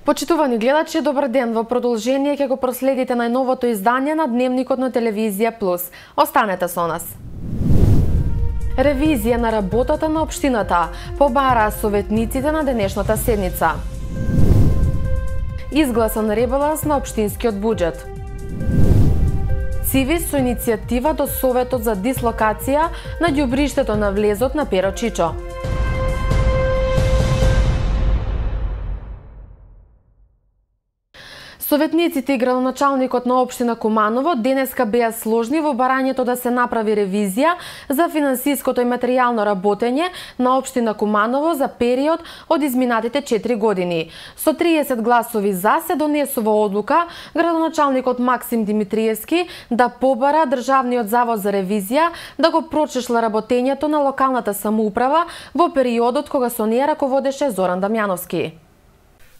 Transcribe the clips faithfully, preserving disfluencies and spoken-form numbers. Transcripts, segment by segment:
Почитувани гледачи, добар ден. Во продолжение ќе го проследите најновото издание на Дневникот на Телевизија Плюс. Останете со нас. Ревизија на работата на општината побараа советниците на денешната седница. Изгласан ребаланс на општинскиот буџет. Цивис со иницијатива до Советот за дислокација на ѓубриштето на влезот на Перо Чичо. Советниците и градоначалникот на општина Куманово денеска беа сложни во барањето да се направи ревизија за финансиското и материјално работење на општина Куманово за период од изминатите четири години. Со триесет гласови за се донесува одлука градоначалникот Максим Димитриевски да побара Државниот завод за ревизија да го прочешла работењето на локалната самоуправа во периодот кога со неја раководеше Зоран Дамјановски.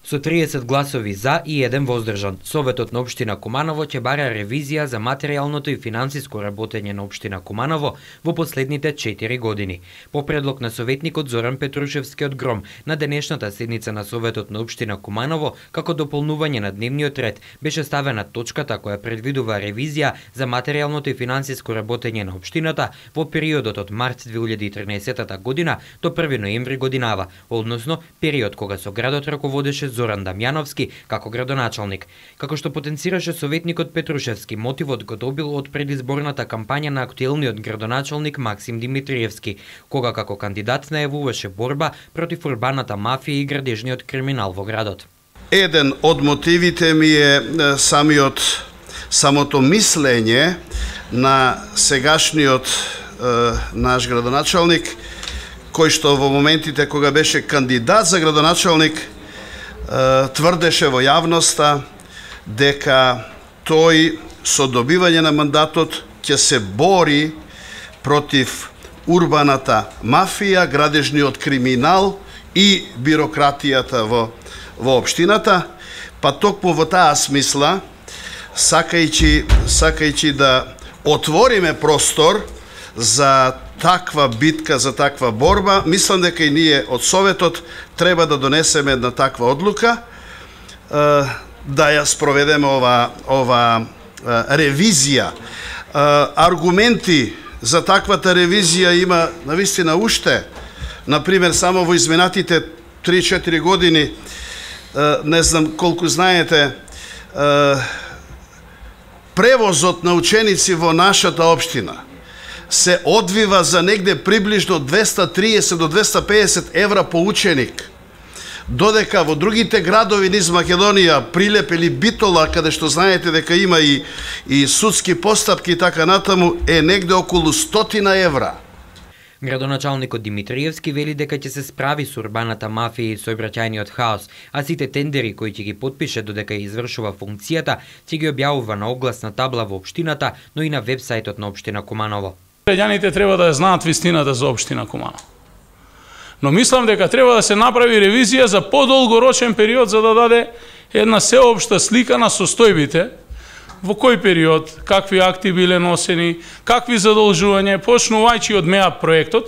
Со триесет гласови за и еден воздржан, Советот на општина Куманово ќе бара ревизија за материјалното и финансиско работење на општина Куманово во последните четири години. По предлог на советникот Зоран Петрушевски од Гром, на денешната седница на Советот на општина Куманово, како дополнување на дневниот ред, беше ставена точката која предвидува ревизија за материјалното и финансиско работење на општината во периодот од март две илјади и тринаесета година до први ноември годинава, односно период кога со градот раководеше Зоран Дамјановски како градоначалник. Како што потенцираше советникот Петрушевски, мотивот го добил од предизборната кампања на актуелниот градоначалник Максим Димитриевски, кога како кандидат најавуваше борба против урбаната мафија и градежниот криминал во градот. Еден од мотивите ми е самиот самото мислење на сегашниот е, наш градоначалник, кој што во моментите кога беше кандидат за градоначалник тврдеше во јавноста дека тој со добивање на мандатот ќе се бори против урбаната мафија, градежниот криминал и бирократијата во, во општината, па токму во таа смисла, сакајќи, сакајќи да отвориме простор за таква битка, за таква борба, мислам дека и ние од Советот треба да донесеме една таква одлука, да ја спроведеме ова, ова ревизија. Аргументи за таквата ревизија има навистина уште. Например, само во изминатите три-четири години, не знам колку знаете, превозот на ученици во нашата општина се одвива за негде приближно двеста триесет до двеста песет евра по ученик. Додека во другите градови низ Македонија, Прилеп или Битола, каде што знаете дека има и, и судски постапки и така натаму, е негде околу стотина евра. Градоначалникот Димитриевски вели дека ќе се справи со урбаната мафија и сообраќајниот хаос, а сите тендери кои ќе ги потпише додека ја извршува функцијата, ќе ги објавува на огласна табла во општината, но и на вебсајтот на општина Куманово. Граѓаните треба да знаат вистината за општина Куманово. Но мислам дека треба да се направи ревизија за подолгорочен период за да даде една сеопшта слика на состојбите, во кој период, какви акти биле носени, какви задолжувања, почнувајќи од МЕАП проектот,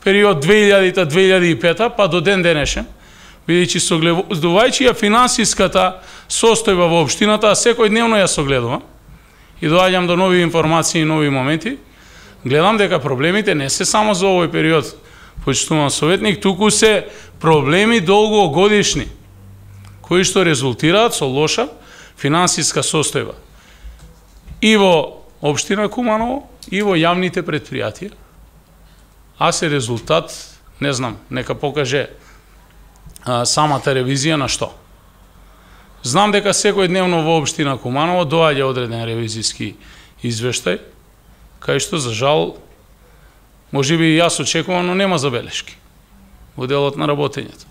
период две илјади до две илјади и пета, па до ден денешен, бидејќи согледувајќи ја финансиската состојба во општината, а секој дневно ја согледувам и доаѓам до нови информации и нови моменти, гледам дека проблемите не се само за овој период, почитуван советник, туку се проблеми долгогодишни, кои што резултираат со лоша финансиска состојба и во општина Куманово, и во јавните предпријатија, а се резултат, не знам, нека покаже а, самата ревизија на што. Знам дека секој дневно во општина Куманово доаѓа одреден ревизиски извештај, кај што, за жал, може би и јас очекувам, но нема забелешки во делот на работењето.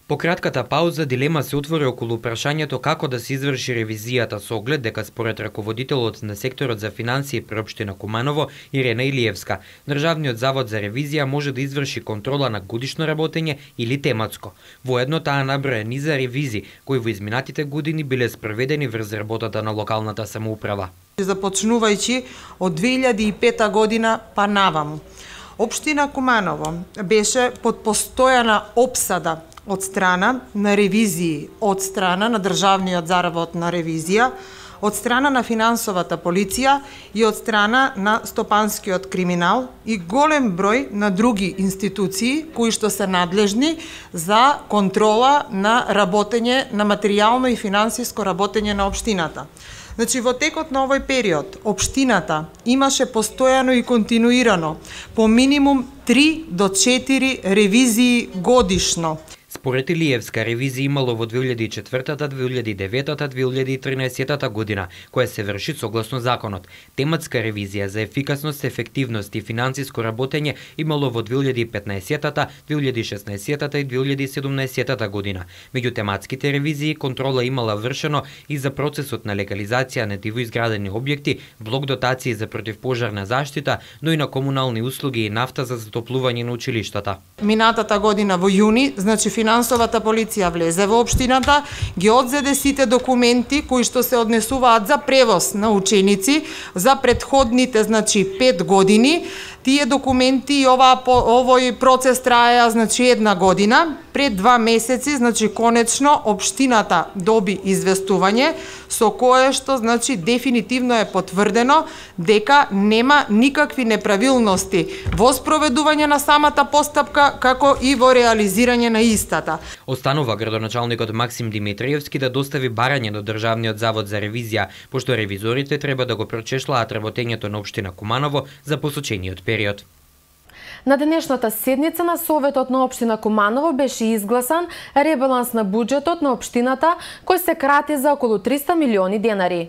По кратката пауза дилема се отвори околу прашањето како да се изврши ревизијата со оглед дека според раководителот на секторот за финансии при општина Куманово Ирена Илиевска, Државниот завод за ревизија може да изврши контрола на годишно работење или тематско. Воедно таа наброја низа ревизии кои во изминатите години биле спроведени врз работата на локалната самоуправа. Започнувајќи од две илјади и пета година па наваму, општина Куманово беше под постојана опсада од страна на ревизии, од страна на Државниот заработна ревизија, од страна на финансовата полиција и од страна на стопанскиот криминал и голем број на други институции кои што се надлежни за контрола на работење, на материјално и финансиско работење на општината. Значи, во текот на овој период, општината имаше постојано и континуирано по минимум три до четири ревизии годишно. Според Илиевска, ревизија имало во две илјади и четвртата, две илјади и деветата, две илјади и тринаесеттата година, која се врши согласно законот. Тематска ревизија за ефикасност, ефективност и финансиско работење имало во две илјади и петнаесеттата, две илјади и шеснаесеттата и две илјади и седумнаесеттата година. Меѓу тематските ревизии, контрола имала вршено и за процесот на легализација на дивоизградени објекти, блок дотации за противпожарна заштита, но и на комунални услуги и нафта за затоплување на училиштата. Минатата година во јуни, значи финансовата полиција влезе во општината, ги одзеде сите документи кои што се однесуваат за превоз на ученици за претходните, значи, пет години. Тие документи и ова, овој процес траеа, значи, една година. Пред два месеци, значи, конечно, општината доби известување со кое што, значи, дефинитивно е потврдено дека нема никакви неправилности во спроведување на самата постапка, како и во реализирање на истата. Останува градоначалникот Максим Димитриевски да достави барање до Државниот завод за ревизија, пошто ревизорите треба да го прочешлаат работењето на општина Куманово за посочениот период. На денешната седница на Советот на општина Куманово беше изгласан ребаланс на буџетот на општината кој се крати за околу триста милиони денари.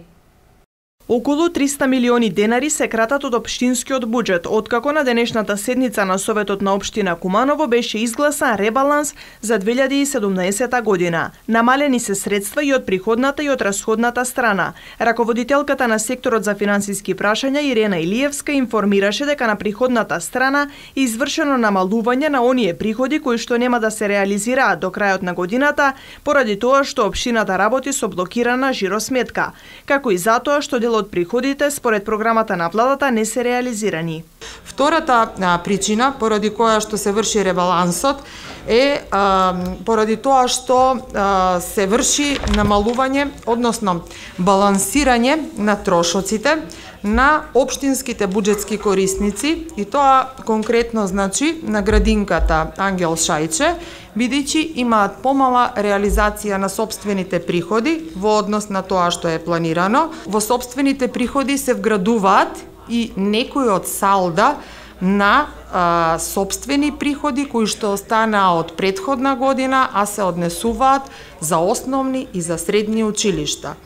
Околу триста милиони денари се кратат од општинскиот буџет, откако на денешната седница на Советот на општина Куманово беше изгласан ребаланс за две илјади и седумнаесета година. Намалени се средства и од приходната и од расходната страна. Раководителката на секторот за финансиски прашања Ирена Илиевска информираше дека на приходната страна е извршено намалување на оние приходи кои што нема да се реализираат до крајот на годината, поради тоа што општината работи со блокирана жиросметка, како и затоа што дел од приходите според програмата на владата не се реализирани. Втората а, причина поради која што се врши ребалансот е а, поради тоа што а, се врши намалување, односно балансирање на трошоците на општинските буџетски корисници и тоа конкретно значи на градинката Ангел Шајче, бидејќи имаат помала реализација на сопствените приходи во однос на тоа што е планирано. Во сопствените приходи се вградуваат и некои од салда на а, сопствени приходи кои што останаа од претходна година, а се однесуваат за основни и за средни училишта.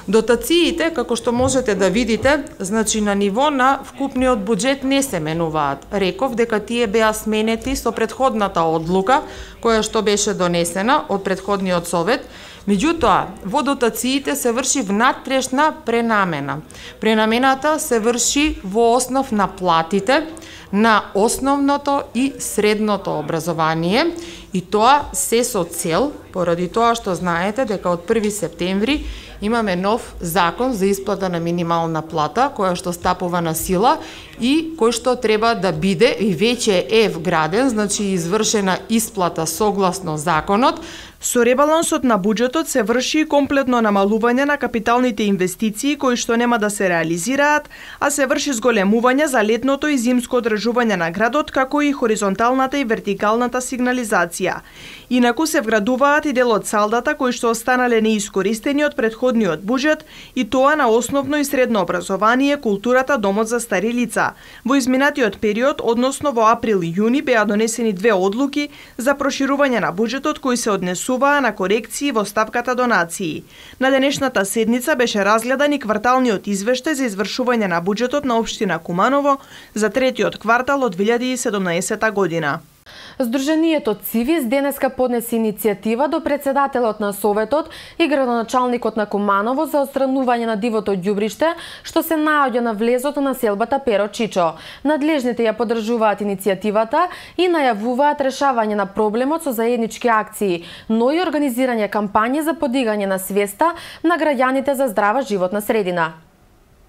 Дотациите, како што можете да видите, значи на ниво на вкупниот буџет не се менуваат. Реков дека тие беа сменети со претходната одлука, која што беше донесена од претходниот совет. Меѓутоа, во дотациите се врши внатрешна пренамена. Пренамената се врши во основ на платите на основното и средното образование и тоа се со цел, поради тоа што знаете дека од први септември имаме нов закон за исплата на минимална плата, која што стапува на сила и кој што треба да биде и веќе е вграден, значи извршена исплата согласно законот. Со ребалансот на буџетот се врши комплетно намалување на капиталните инвестиции кои што нема да се реализираат, а се врши зголемување за летното и зимско одржување на градот, како и хоризонталната и вертикалната сигнализација. Инаку се вградуваат и дел од салдата кои што останале неискористени од претходниот буџет и тоа на основно и средно образование, културата, домот за стари лица. Во изминатиот период, односно во април и јуни, беа донесени две одлуки за проширување на буџетот кои се однесуваа на корекции во ставката донации. На денешната седница беше разгледан и кварталниот извештај за извршување на буџетот на општина Куманово за третиот квартал од две илјади и седумнаесета година. Сдруженијето Цивис денеска поднесе иницијатива до председателот на Советот и градоначалникот на Куманово за отстранување на дивото ѓубриште што се наоѓа на влезот на селбата Перо Чичо. Надлежните ја поддржуваат иницијативата и најавуваат решавање на проблемот со заеднички акции, но и организирање кампањи за подигање на свеста на граѓаните за здрава животна средина.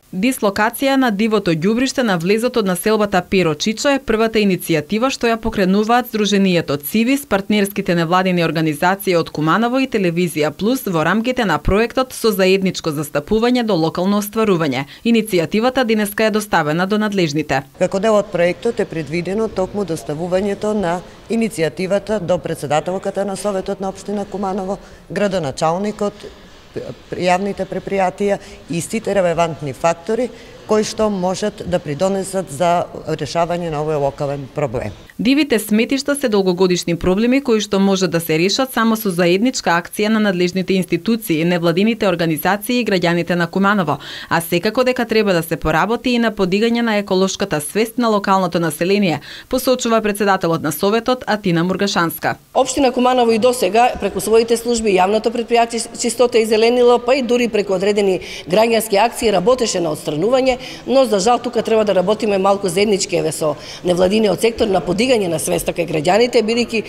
Дислокација на дивото ѓубриште на влезот од населбата Перо Чичо е првата иницијатива што ја покренуваат Сдруженијето Цивис, партнерските невладини организации од Куманово и Телевизија Плюс во рамките на проектот со заедничко застапување до локално остварување. Иницијативата денеска е доставена до надлежните. Како дел од проектот е предвидено токму доставувањето на иницијативата до претседателката на Советот на општина Куманово, градоначалникот, јавните предпријатија и сите релевантни фактори кои што можат да придонесат за решавање на овој локален проблем. Дивите сметишта се долгогодишни проблеми кои што можат да се решат само со заедничка акција на надлежните институции, невладините организации и граѓаните на Куманово, а секако дека треба да се поработи и на подигање на еколошката свест на локалното население, посочува претседателот на Советот Атина Мургашанска. Општина Куманово и досега преку своите служби, јавното предпријатие Чистота и зеленило, па и дури преку одредени граѓански акции работеше на отстранување, но за жал тука треба да работиме малку заеднички еве со невладиниот сектор на подигање на свеста кај граѓаните, бидејќи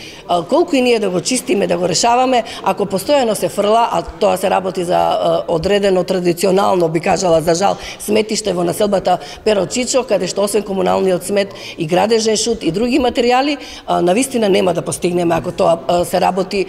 колку и ние да го чистиме, да го решаваме, ако постојано се фрла, а тоа се работи за одредено традиционално, би кажала за жал, сметиште во населбата Перо Чичо, каде што освен комуналниот смет и градежен шут и други материјали, навистина нема да постигнеме ако тоа се работи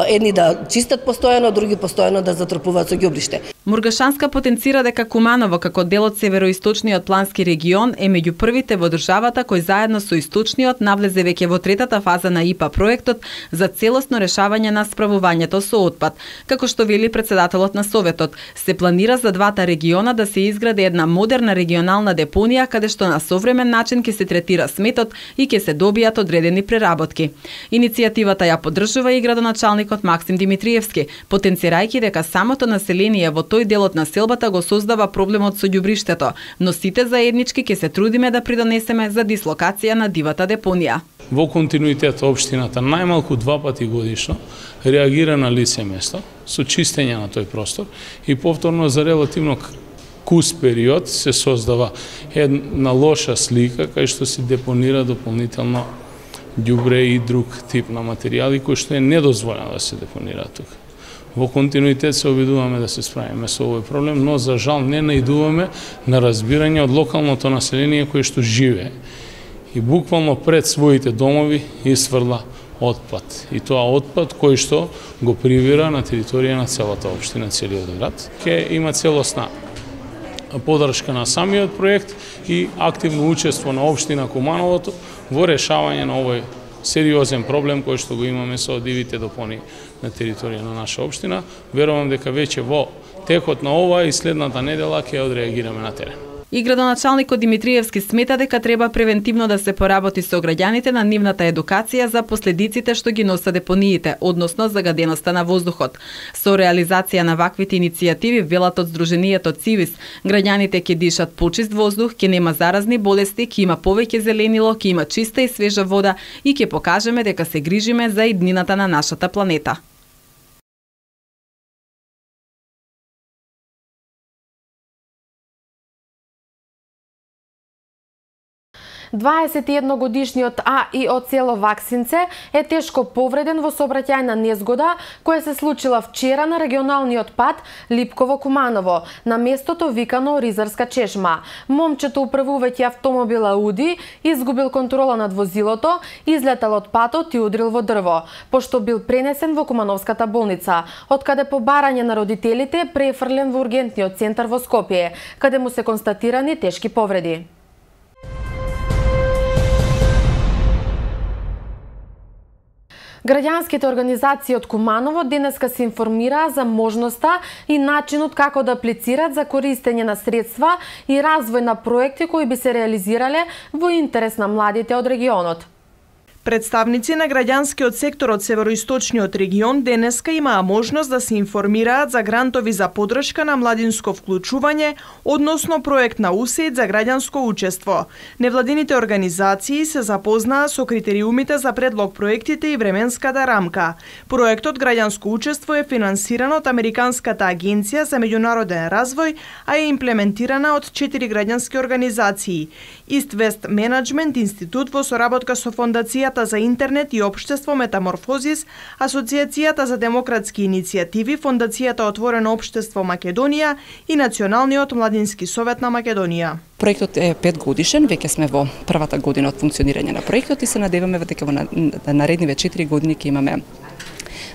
едни да чистат постојано, други постојано да затрпуваат со ѓубриште. Мургашанска потенцира дека Куманово како дел од североисточниот плански регион е меѓу првите во државата кој заедно со источниот навлезе веќе во третата фаза на ИПА проектот за целосно решавање на справувањето со отпад. Како што вели претседателот на Советот, се планира за двата региона да се изгради една модерна регионална депонија каде што на современ начин ќе се третира сметот и ќе се добијат одредени преработки. Иницијативата ја поддржува и градоначалникот Максим Димитриевски, потенцирајќи дека самото население во тој дел од населбата го создава проблемот со ѓубриштето, но сите заеднички ќе се трудиме да придонесеме за дислокација на дивата депонија. Во континуитет општината најмалку два пати годишно реагира на лице место со чистење на тој простор и повторно за релативно кус период се создава една лоша слика кај што се депонира дополнително ѓубре и друг тип на материјали кои што е недозволено да се депонира тука. Во континуитет се обидуваме да се справиме со овој проблем, но за жал не најдуваме на разбирање од локалното население кое што живее и буквално пред своите домови исфрла отпад. И тоа отпад кој што го привира на територија на целата општина, целиот град. Ке има целосна поддршка на самиот проект и активно учество на општина Кумановото во решавање на овој сериозен проблем кој што го имаме со дивите депонии на територија на наша општина. Верувам дека веќе во текот на ова и следната недела ќе одреагираме на терен. И градоначалникот Димитриевски смета дека треба превентивно да се поработи со граѓаните на нивната едукација за последиците што ги носат депониите, односно загаденоста на воздухот. Со реализација на ваквите иницијативи, велат од Сдруженијето Цивис, граѓаните ќе дишат почист воздух, ќе нема заразни болести, ќе има повеќе зеленило, ќе има чиста и свежа вода и ќе покажеме дека се грижиме за иднината на нашата планета. дваесет и едногодишниот А И од село Ваксинце е тешко повреден во сообраќајна незгода која се случила вчера на регионалниот пат Липково-Куманово, на местото викано Ризарска чешма. Момчето управувајќи автомобил Ауди изгубил контрола над возилото, излетал од патот и удрил во дрво, пошто бил пренесен во Кумановската болница, од каде по барање на родителите префрлен во ургентниот центар во Скопје, каде му се констатирани тешки повреди. Граѓанските организации од Куманово денеска се информираа за можноста и начинот како да аплицираат за користење на средства и развој на проекти кои би се реализирале во интерес на младите од регионот. Представници на граѓанскиот сектор од североисточниот регион денеска имаа можност да се информираат за грантови за поддршка на младинско вклучување, односно проект на УСАИД за граѓанско учество. Невладините организации се запознаа со критериумите за предлог проектите и временската рамка. Проектот Граѓанско учество е финансиран од Американската агенција за меѓународен развој, а е имплементирана од четири граѓански организации: East West Management Институт во соработка со фондацијата Институтата за интернет и општество Метаморфозис, Асоциацијата за демократски иницијативи, Фондацијата Отворено општество Македонија и Националниот младински совет на Македонија. Проектот е петгодишен, веќе сме во првата година од функционирање на проектот и се надеваме дека во наредниве четири години ќе имаме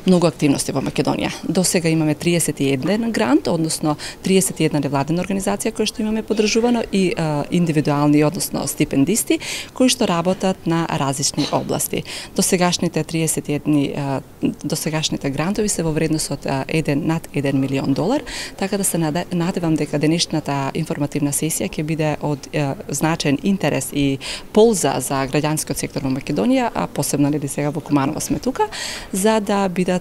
многу активности во Македонија. До сега имаме триесет и еден грант, односно триесет и една невладена организација која што имаме подржувано и а, индивидуални, односно стипендисти кои што работат на различни области. До сегашните триесет и една до сегашните грантови се во вредност од еден над еден милион долар, така да се надевам дека денешната информативна сесија ќе биде од а, значаен интерес и полза за граѓанскиот сектор во Македонија, а посебно ли сега во Куманово сме тука, за да бидат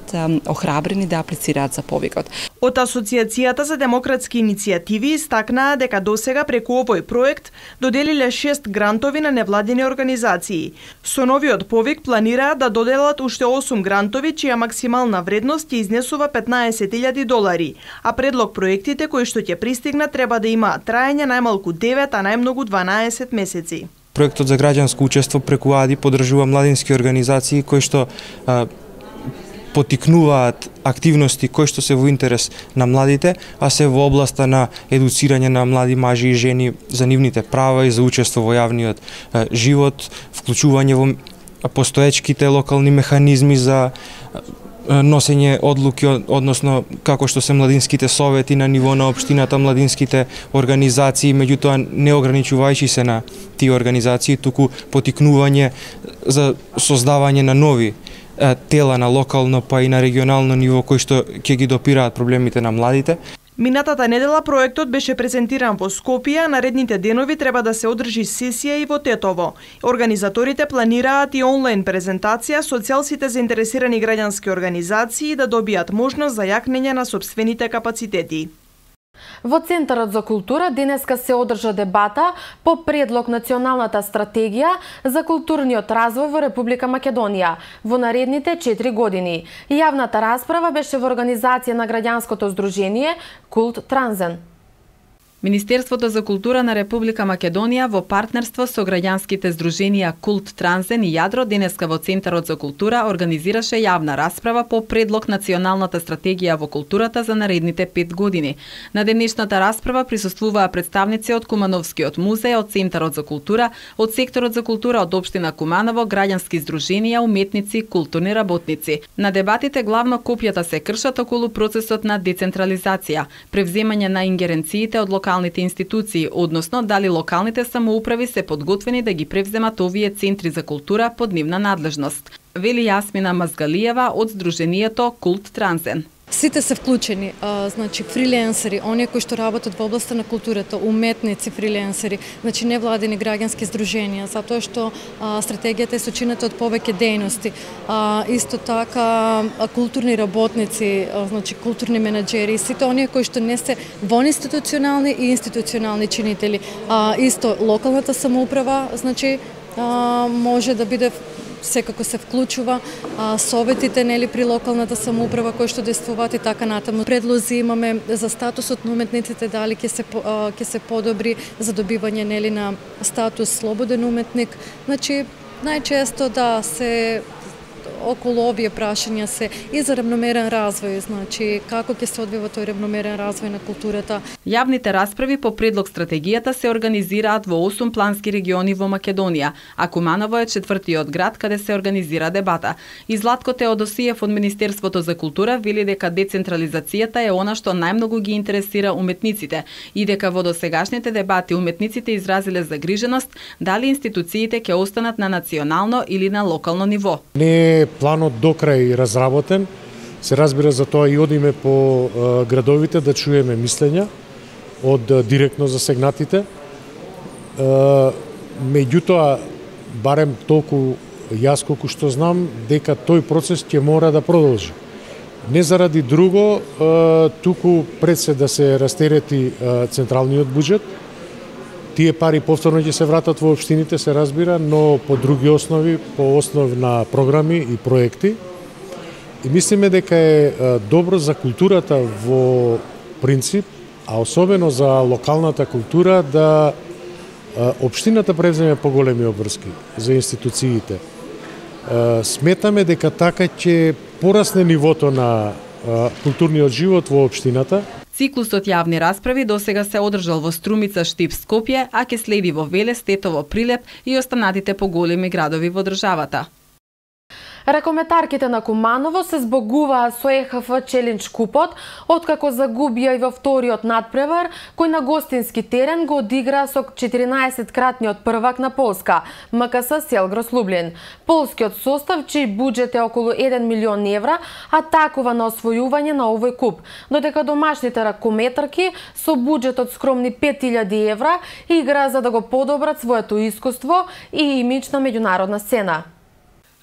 охрабрени да аплицираат за повикот. Од Асоциацијата за демократски иницијативи истакнаа дека досега преку овој проект доделиле шест грантови на невладени организации. Со новиот повик планираат да доделат уште осум грантови чија максимална вредност ќе изнесува петнаесет илјади долари, а предлог проектите кои што ќе пристигнат треба да имаат траење најмалку девет, а најмногу дванаесет месеци. Проектот за граѓанско учество преку АДИ подржува младински организации кои што а, потикнуваат активности кои што се во интерес на младите, а се во областа на едуцирање на млади мажи и жени за нивните права и за учество во јавниот е, живот, вклучување во постоечките локални механизми за е, носење одлуки, односно како што се младинските совети на ниво на општината, младинските организации, меѓутоа не ограничувајќи се на тие организации, туку потикнување за создавање на нови тела на локално па и на регионално ниво кои што ќе ги допираат проблемите на младите. Минатата недела проектот беше презентиран во Скопје, а наредните денови треба да се одржи сесија и во Тетово. Организаторите планираат и онлайн презентација со цел сите заинтересирани граѓански организации да добијат можност за јакнење на сопствените капацитети. Во Центарот за култура денеска се одржа дебата по предлог Националната стратегија за културниот развој во Република Македонија во наредните четири години. Јавната расправа беше во организација на граѓанското здружение Култ Транзен. Министерството за култура на Република Македонија во партнерство со граѓанските здруженија Култ Транзен и Јадро денеска во Центарот за култура организираше јавна расправа по предлог Националната стратегија во културата за наредните пет години. На денешната расправа присуствуваа представници од Кумановскиот музеј, од Центарот за култура, од секторот за култура од општина Куманово, граѓански здруженија, уметници, културни работници. На дебатите главно копјата се кршат околу процесот на децентрализација, превземање на ингеренциите од локалните институции, односно дали локалните самоуправи се подготвени да ги превземат овие центри за култура под нивна надлежност. Вели Јасмина Мазгалиева од здруженијето Култ Транзен. Сите се вклучени, а, значи фриленсери, оние кои што работат во областа на културата, уметници, фриленсери, значи невладени граѓански здруженија, затоа што а, стратегијата е сочинета од повеќе дејности. А, исто така а, културни работници, а, значи културни менаџери, сите оние кои што не се вон институционални и институционални чинители. А, исто локалната самоуправа, значи а, може да биде секако се вклучува, а, советите нели при локалната самоуправа кои што действуваат и така натаму. Предлози имаме за статусот на уметниците, дали ќе се а, ќе се подобри за добивање нели на статус слободен уметник. Значи најчесто да се околу овие прашања се и за равномерен развој, значи како ќе се одвива тој равномерен развој на културата. Јавните расправи по предлог стратегијата се организираат во осум плански региони во Македонија, а Куманово е четвртиот град каде се организира дебата. И Златко Теодосиев од Министерството за култура вели дека децентрализацијата е она што најмногу ги интересира уметниците и дека во досегашните дебати уметниците изразиле загриженост дали институциите ќе останат на национално или на локално ниво. Не планот до крај разработен, се разбира за тоа и одиме по е, градовите да чуеме мислења од е, директно засегнатите. Е, меѓутоа, барем толку јас колку што знам, дека тој процес ќе мора да продолжи. Не заради друго, е, туку пред се да се растерети е, централниот буџет. Тие пари повторно ќе се вратат во општините, се разбира, но по други основи, по основ на програми и проекти. И мислиме дека е добро за културата во принцип, а особено за локалната култура, да општината превземе поголеми обврски за институциите. Сметаме дека така ќе порасне нивото на културниот живот во општината. Циклусот јавни расправи досега се одржал во Струмица, Штип, Скопје, а ќе следи во Велес, Тетово, Прилеп и останатите поголеми градови во државата. Ракометарките на Куманово се збогуваат со Е Х Ф Челендж купот, откако загубија и во вториот надпревар, кој на гостински терен го одигра со четиринаесеткратниот првак на Полска, М К С Селгрос Лублин. Полскиот состав, чиј буџет е околу еден милион евра, атакува на освојување на овој куп, додека домашните ракометарки со буџет од скромни пет илјади евра игра за да го подобрат своето искуство и имидж на меѓународна сцена.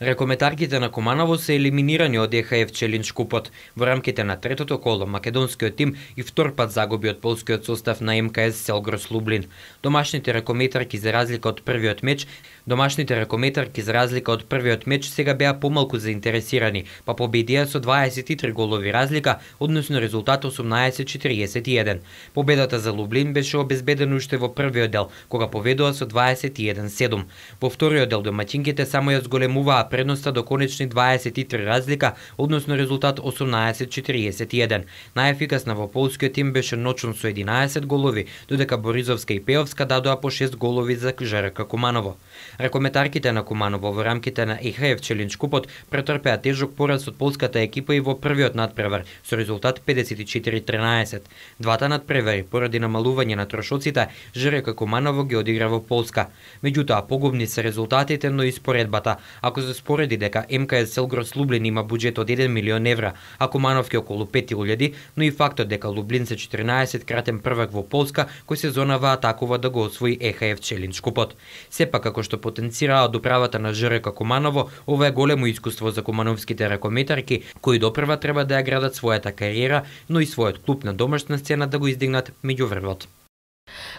Ракометарките на Куманово се елиминирани од Е Х Ф Челендж купот. Во рамките на третото коло, македонскиот тим и втор пат загуби од полскиот состав на М К С Селгрос Лублин. Домашните ракометарки за разлика од првиот меч, домашните ракометарки за разлика од првиот меч сега беа помалку заинтересирани, па победија со дваесет и три голови разлика, односно резултат осумнаесет четириесет и еден. Победата за Лублин беше обезбедена уште во првиот дел, кога поведува со дваесет и еден седум. Во вториот дел домаќинките само ја зголемуваа предноста до конечни дваесет и три разлика, односно резултат осумнаесет четириесет и еден. Најефикасна во полскиот тим беше Ночун со единаесет голови, додека Боризовска и Пеовска дадоа по шест голови за Ж Р К Куманово. Ракометарките на Куманово во рамките на Е Х Ф Челендж купот претрпеа тежок пораз од полската екипа и во првиот надпревар со резултат педесет и четири тринаесет. Двата надпревари поради намалување на трошоците Ж Р К Куманово ги одигра во Полска. Меѓутоа погубни се резултатите, но и споредбата. Ако се спореди дека М К С Селгрос Лублин има буџет од еден милион евра, а Кумановки околу пет илјади, но и фактот дека Лублин се четиринаесеткратен првак во Полска, кој сезонава атакува да го освои Е Х Ф Челендж купот. Сепак, како што потенцираа од управата на Ж Р К Куманово, ова е големо искуство за кумановските ракометарки, кои допрва треба да ја градат својата кариера, но и својот клуб на домашна сцена да го издигнат меѓу врвот.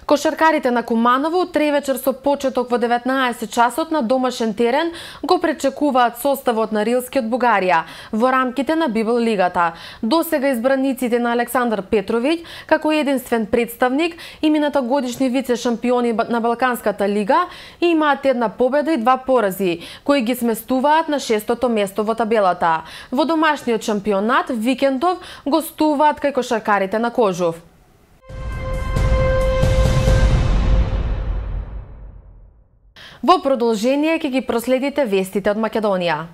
Кошаркарите на Куманово утре вечер со почеток во деветнаесет часот на домашен терен го пречекуваат составот на Рилски од Бугарија во рамките на Библ лигата. Досега избраниците на Александар Петровиќ како единствен представник и минатогодишни вице шампиони на Балканската лига имаат една победа и два порази, кои ги сместуваат на шестото место во табелата. Во домашниот шампионат викендов гостуваат кај кошаркарите на Кожув. Во продолжение ќе ги проследите вестите од Македонија.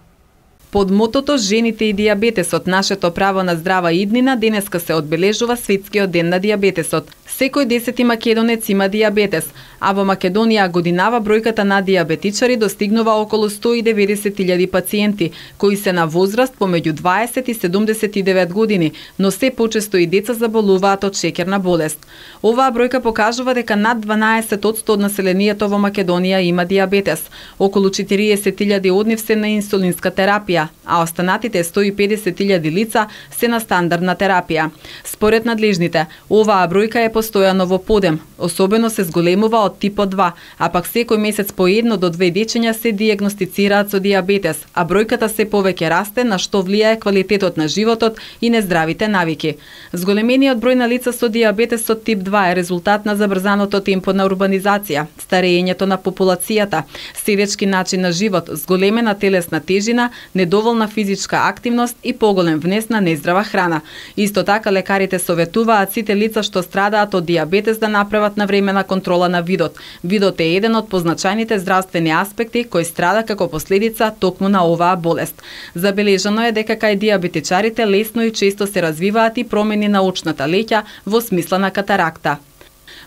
Под мотото Жените и дијабетесот, нашето право на здрава иднина, денеска се одбележува Светскиот ден на дијабетесот. Секој десети македонец има дијабетес, а во Македонија годинава бројката на дијабетичари достигнува околу сто и деветдесет илјади пациенти, кои се на возраст помеѓу дваесет и седумдесет и девет години, но се почесто и деца заболуваат од шеќерна болест. Оваа бројка покажува дека над дванаесет одсто од населението во Македонија има дијабетес. Околу четириесет илјади од нив се на инсулинска терапија, а останатите сто и педесет илјади лица се на стандардна терапија. Според надлежните, оваа бројка е постојано во подем, особено се зголемува од типот два, а пак секој месец по едно до две дечиња се дијагностицираат со дијабетес, а бројката се повеќе расте, на што влијае квалитетот на животот и нездравите навики. Зголемениот број на лица со дијабетес со тип два е резултат на забрзаното темпо на урбанизација, старењето на популацијата, седечки начин на живот, зголемена телесна тежина, недоволна физичка активност и поголем внес на нездрава храна. Исто така лекарите советуваат сите лица што страдаат од дијабетес да направат навремена контрола на видот. Видот е еден од позначајните здравствени аспекти кој страда како последица токму на оваа болест. Забележано е дека кај дијабетичарите лесно и често се развиваат и промени на очната леќа во смисла на катаракта.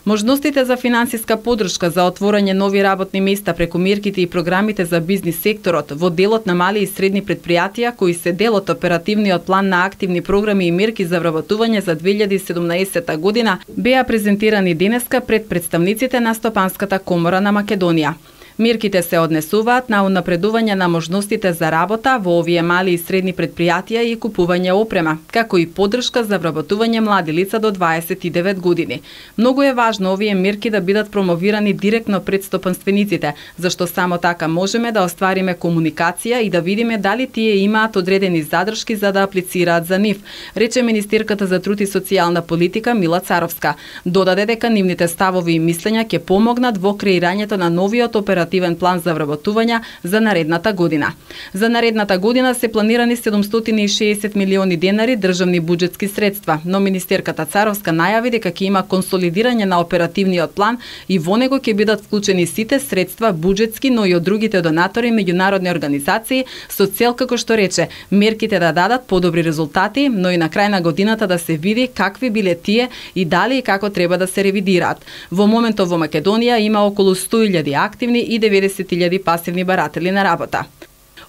Можностите за финансиска поддршка за отворање нови работни места преку мерките и програмите за бизнис секторот во делот на мали и средни предпријатија кои се дел од оперативниот план на активни програми и мерки за вработување за две илјади и седумнаесета година беа презентирани денеска пред представниците на Стопанската комора на Македонија. Мерките се однесуваат на унапредување на можностите за работа во овие мали и средни предпријатија и купување опрема, како и поддршка за вработување млади лица до дваесет и девет години. Многу е важно овие мерки да бидат промовирани директно пред стопанствениците, зашто само така можеме да оствариме комуникација и да видиме дали тие имаат одредени задршки за да аплицираат за нив, рече министерката за труд и социјална политика Мила Царовска. Додаде дека нивните ставови и мислења ќе помогнат во креирањето на новиот оперативен оперативен план за вработување за наредната година. За наредната година се планирани седумстотини и шеесет милиони денари државни буџетски средства, но министерката Царовска најави дека ќе има консолидирање на оперативниот план и во него ќе бидат вклучени сите средства буџетски, но и од другите донатори и меѓународни организации со цел, како што рече, мерките да дадат подобри резултати, но и на крај на годината да се види какви биле тие и дали и како треба да се ревидираат. Во моментов во Македонија има околу сто илјади активни и деветдесет илјади пасивни баратели на работа.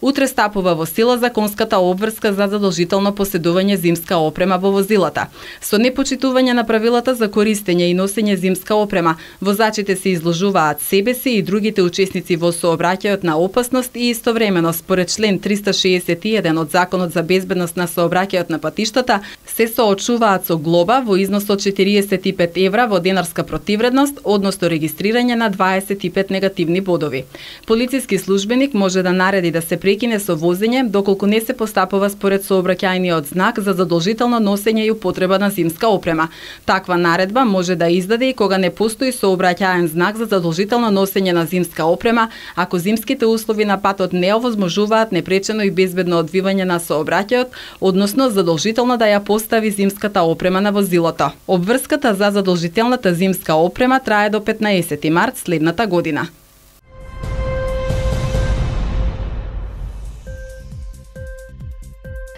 Утре стапува во сила законската обврска за задолжително поседување зимска опрема во возилата. Со непочитување на правилата за користење и носење зимска опрема, возачите се изложуваат себе си и другите учесници во сообраќајот на опасност и истовремено според член триста шеесет и еден од Законот за безбедност на сообраќајот на патиштата се соочуваат со глоба во износ од четириесет и пет евра во денарска противредност, односно регистрирање на дваесет и пет негативни бодови. Полициски службеник може да нареди да се прекине со возење доколку не се постапува според сообраќајниот знак за задолжително носење и употреба на зимска опрема. Таква наредба може да издаде и кога не постои сообраќаен знак за задолжително носење на зимска опрема, ако зимските услови на патот не овозможуваат непречено и безбедно одвивање на сообраќајот, односно задолжително да ја постави зимската опрема на возилото. Обврската за задолжителната зимска опрема трае до петнаесети март следната година.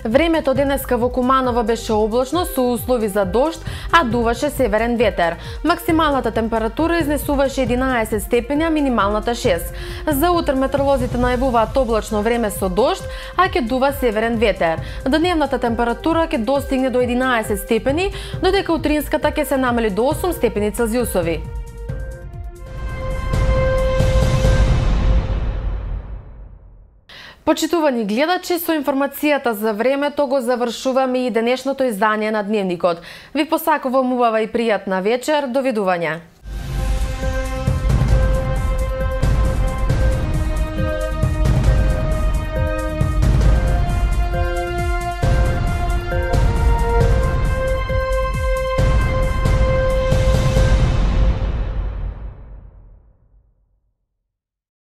Времето денеска во Куманово беше облачно со услови за дожд, а дуваше северен ветер. Максималната температура изнесуваше единаесет степени, а минималната шест. За утре метеоролозите најавуваат облачно време со дожд, а ќе дува северен ветер. Дневната температура ќе достигне до единаесет степени, додека утринската ќе се намали до осум степени Целзиусови. Почитувани гледачи, со информацијата за времето го завршуваме и денешното издание на Дневникот. Ви посакувам убава и пријатна вечер, довидување.